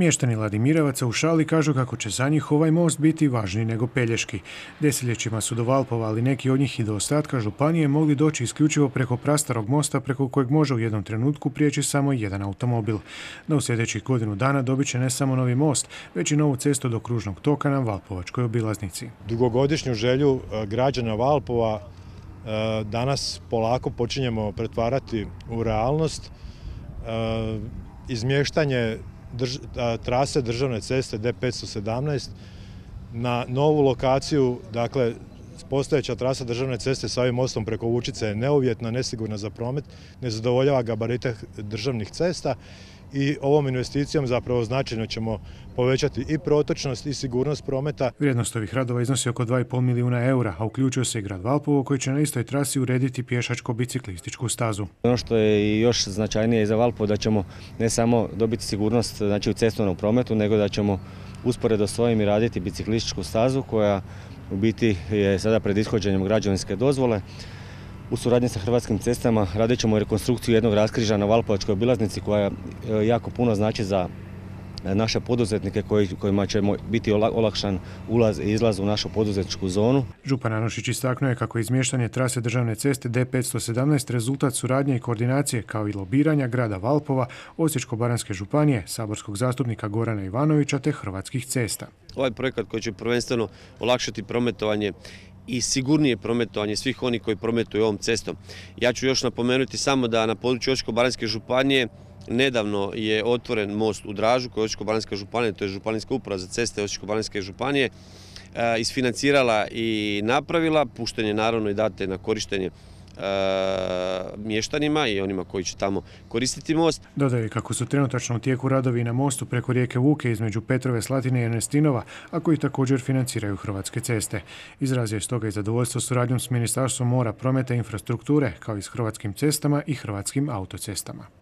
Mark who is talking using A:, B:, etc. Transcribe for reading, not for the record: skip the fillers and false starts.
A: Mještani Ladimirevaca u Šali kažu kako će za njih ovaj most biti važniji nego Pelješki. Desetljećima su do Valpova, ali neki od njih i do ostatka županije mogli doći isključivo preko prastarog mosta preko kojeg može u jednom trenutku prijeći samo jedan automobil. No u sljedećih godinu dana dobit će ne samo novi most, već i novu cestu do kružnog toka na Valpovačkoj obilaznici.
B: Dugogodišnju želju građana Valpova danas polako počinjemo pretvarati u realnost. Izmještanje trase državne ceste D517 na novu lokaciju, dakle postojeća trasa državne ceste sa ovim mostom preko Vučice je neuvjetna, nesigurna za promet, ne zadovoljava gabarite državnih cesta i ovom investicijom zapravo značajno ćemo povećati i protočnost i sigurnost prometa.
A: Vrijednost ovih radova iznosi oko 2,5 milijuna eura, a uključuje se i grad Valpovo koji će na istoj trasi urediti pješačko-biciklističku stazu.
C: Ono što je i još značajnije za Valpovo da ćemo ne samo dobiti sigurnost u cestovnom prometu, nego da ćemo usporedo s ovim i raditi biciklističku stazu koja u biti je sada pred ishođenjem građevinske dozvole. U suradnji sa Hrvatskim cestama radit ćemo rekonstrukciju jednog raskrižja na Valpovačkoj obilaznici koja jako puno znači za naše poduzetnike kojima će biti olakšan ulaz i izlaz u našu poduzetničku zonu.
A: Župan Anušić istaknuo je kako je izmještanje trase državne ceste D517 rezultat suradnje i koordinacije kao i lobiranja grada Valpova, Osječko-baranjske županije, saborskog zastupnika Gorana Ivanovića te Hrvatskih cesta.
D: Ovaj projekat koji će prvenstveno olakšati prometovanje i sigurnije prometovanje svih onih koji prometuju ovom cestom. Ja ću još napomenuti samo da na području Osječko-baranjske županije nedavno je otvoren most u Dražu koji je Osječko-baranjska županija, to je Županijska uprava za ceste Osječko-baranjske županije, isfinancirala i napravila, pušten je naravno i date na korištenje mještanima i onima koji će tamo koristiti most.
A: Dodaju kako su trenutačno u tijeku radovi na mostu preko rijeke Vuke između Petrove, Slatine i Ernestinova, a koji također financiraju Hrvatske ceste. Izrazio je stoga i zadovoljstvo suradnjom s Ministarstvom mora, prometa i infrastrukture, kao i s Hrvatskim cestama i Hrvatskim autocestama.